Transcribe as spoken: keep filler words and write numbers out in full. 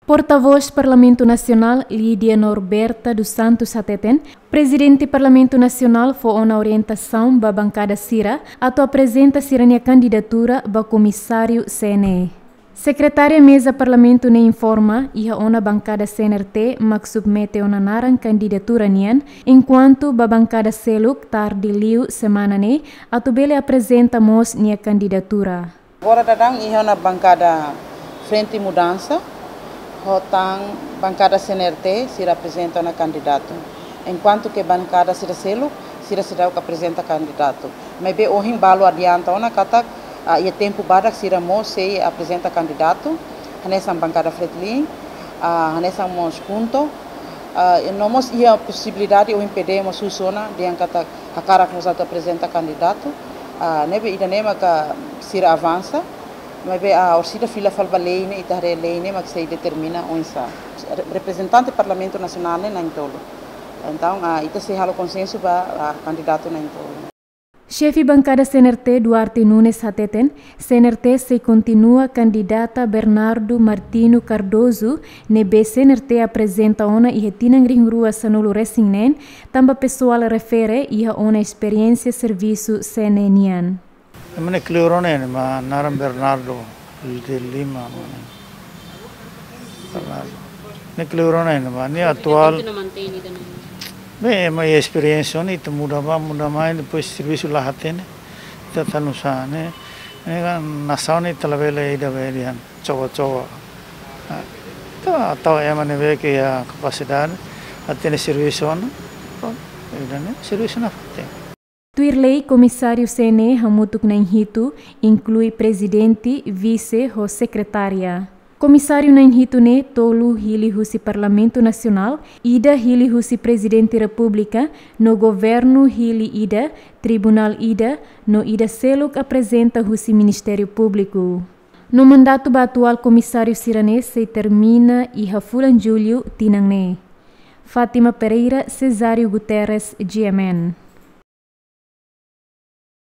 Portavós Parlamentu Nasionál, Lídia Norberta dos Santos hateten, Prezidente Parlamentu Nasionál fó ona orientasaun ba bankada sira atu aprezenta sira-nia kandidatura ba komisáriu C N E. Sekretária Meza Parlamentu ne'e informa, iha ona bankada C N R T mak submete ona naran kandidatura nian, enkuantu ba bankada seluk tarde liu semana ne'e atu bele aprezenta mós nia kandidatura. Agora daudaun iha ona bankada Frente Mudansa, ho tan bankada C N R T, sira aprezenta ona kandidatu. Enkuantu ke bankada sira seluk, sira seidauk aprezenta kandidatu. Maibé ohin balu adianta ona katak, ah, iha tempu badak sira mós sei aprezenta kandidatu, hanesan bankada Fretilin, ah, hanesan mós KHUNTO, ah, no mós iha posibilidade ohin P D mós husu ona, dehan katak hakarak mós atu aprezenta kandidatu, ah, ne'ebé ida-ne'e maka sira avansa, maibé, ah, orsida fila fali ba lei ne'e, ita haree lei ne'e mak sei determina oinsá. Re-, reprezentante Parlamentu Nasionál ne'e na'in-tolu. Entaun, ah, ita sei halo konsensu ba, ah, kandidatu na'in-tolu. Xefe bankada C N R T Duarte Nunes hateten, C N R T sei kontinua kandidata Bernardo Martino Cardoso, ne'ebé C N R T aprezenta ona iha tinan rihun rua sanulu resin neen, tanba pesoál refere iha ona esperiénsia servisu C N E nian. Ema ne'e kleur ona ne'e, ema naran Bernardo de Lima, ema ne'e. Bernardo. Ne'e kleur ona ne'e, ema ne'e atuál. Bem, ema iha esperiénsia ona, ita muda bá, muda mai, depois servisu la hatene. Ita tanu sa ne'e. Ne'e kan nasaun ne'e ita labele ida be dian, coba-coba. Ah, ita tau ema ne'ebé ke iha kapasidade, hatene servisu ona. Pronto, ida-ne'e servisu nafatin. Tuir lei, komisáriu C N E hamutuk na'in hitu, inklui prezidente, vise ho sekretária. Komisáriu na'in hitu ne'e tolu hili husi Parlamentu Nasionál, ida hili husi Prezidente Repúblika, no governu hili ida, tribunál ida, no ida seluk aprezenta husi Ministériu Públiku. No mandatu ba atuál komisáriu sira-ne'e sei termina iha fulan Jullu tinan ne'e. Fátima Pereira, Cesário Guterres, G M N.